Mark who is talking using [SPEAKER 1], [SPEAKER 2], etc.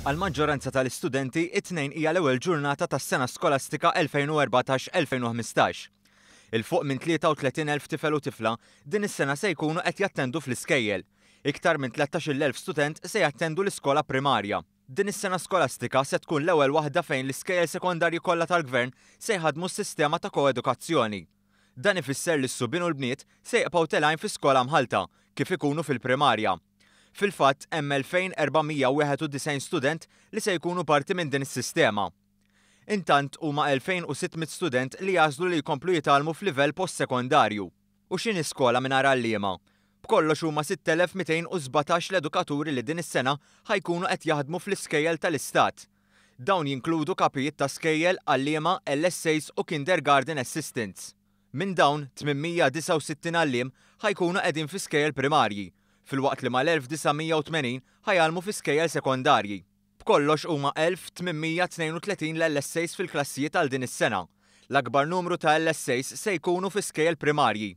[SPEAKER 1] Għall-maġġoranza tal-istudenti, it-Tnejn hija l-ewwel ġurnata tas-sena skolastika 2014-2015. Il fuq minn 33,000 tifel u tifla din is-sena se jkunu qed jattendu fl-iskejjel. Iktar minn 13,000 student se jattendu l-iskola primarja. Din is-sena skolastika se tkun l-ewwel waħda fejn l-iskejjel sekondarji kollha tal-Gvern se jħaddmu s-sistema ta' koedukazzjoni. Dan ifisser li s-subien u l-bniet se jibqgħu telgħin fi skola mħallta, kif ikunu fil-primarja. Fil-fatt, hemm 2,491 student li se jkunu parti minn din is-sistema. Intant, huma 2,600 student li għażlu li jkomplu jitgħallmu f'livell postsekondarju. U x'inhi skola mingħajr għalliema? B'kollox huma 6,217 l-edukaturi li din is-sena ħa jkunu qed jaħdmu fl-iskejjel tal-Istat. Dawn jinkludu kapijiet ta' skejjel, għalliema, LSAs u kindergarten assistants. Minn dawn, 869 għalliem ħa jkunu qegħdin fi skejjel primarji, filwaqt li mal-1,980 ħa jgħallmu fi skejjel sekondarji. B'kollox huma 1,832 l-LSAs fil-klassijiet għal din is-sena. L-akbar numru ta' LSAs se jkunu fi skejjel primarji.